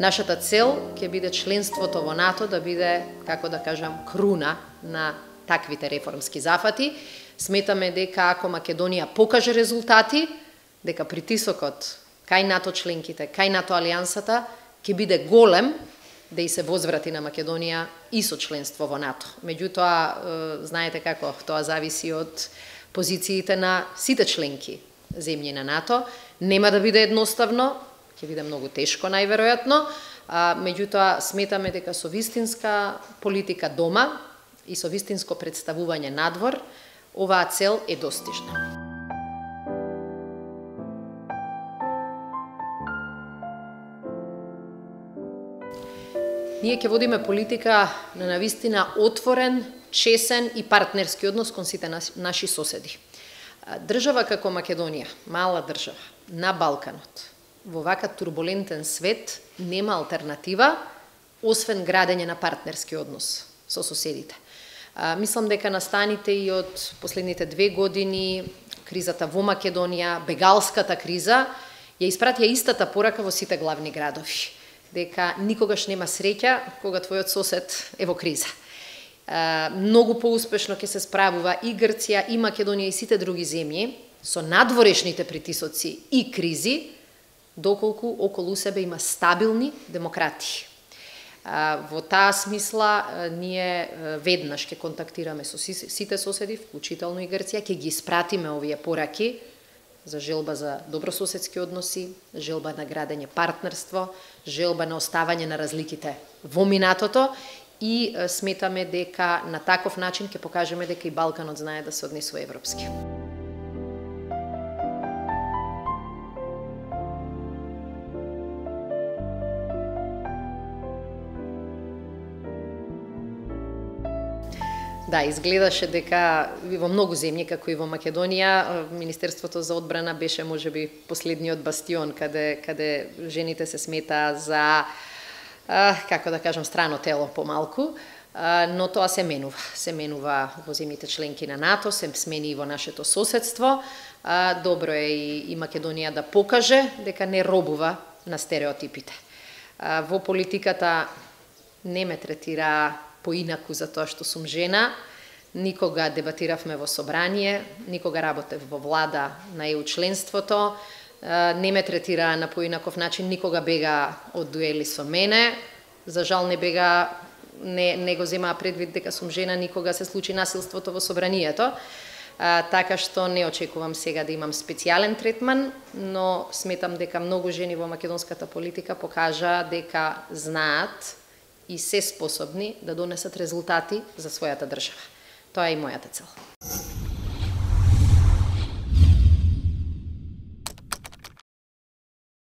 Нашата цел ќе биде членството во НАТО да биде, како да кажам, круна на таквите реформски зафати. Сметаме дека ако Македонија покаже резултати, дека притисокот кај НАТО членките, кај НАТО алијансата ќе биде голем да и се возврати на Македонија и со членство во НАТО. Меѓутоа, знаете како, тоа зависи од позициите на сите членки земји на НАТО. Нема да биде едноставно, ќе биде многу тешко најверојатно, меѓутоа сметаме дека со вистинска политика дома и со вистинско представување надвор, оваа цел е достижна. Ние ќе водиме политика на навистина отворен, чесен и партнерски однос кон сите наши соседи. Држава како Македонија, мала држава, на Балканот, во вака турбулентен свет нема алтернатива освен градење на партнерски однос со соседите. Мислам дека настаните и од последните 2 години, кризата во Македонија, бегалската криза, ја испратија истата порака во сите главни градови, дека никогаш нема среќа кога твојот сосед е во криза. Многу поуспешно ќе се справува и Грција, и Македонија, и сите други земји со надворешните притисоци и кризи, доколку околу себе има стабилни демократии. Во таа смисла, ние веднаш ќе контактираме со сите соседи, вклучително и Грција, ќе ги испратиме овие пораки за желба за добрососедски односи, желба на градење партнерство, желба на оставање на разликите во минатото и сметаме дека на таков начин ќе покажеме дека и Балканот знае да се однесува европски. Да, изгледаше дека во многу земји, како и во Македонија, Министерството за одбрана беше можеби последниот бастион каде жените се сметаа за, како да кажам, страно тело помалку, но тоа се менува. Се менува во земјите членки на НАТО, се смени и во нашето соседство. Добро е и Македонија да покаже дека не робува на стереотипите. Во политиката не ме третира поинаку за тоа што сум жена, никога дебатиравме во собрание, никога работев во влада на ЕУ членството, не ме третира на поинаков начин, никога бега од дуели со мене, за жал не го земаа предвид дека сум жена, никога се случи насилството во собранието, така што не очекувам сега да имам специјален третман, но сметам дека многу жени во македонската политика покажа дека знаат и се способни да донесат резултати за својата држава. Тоа е и мојата цел.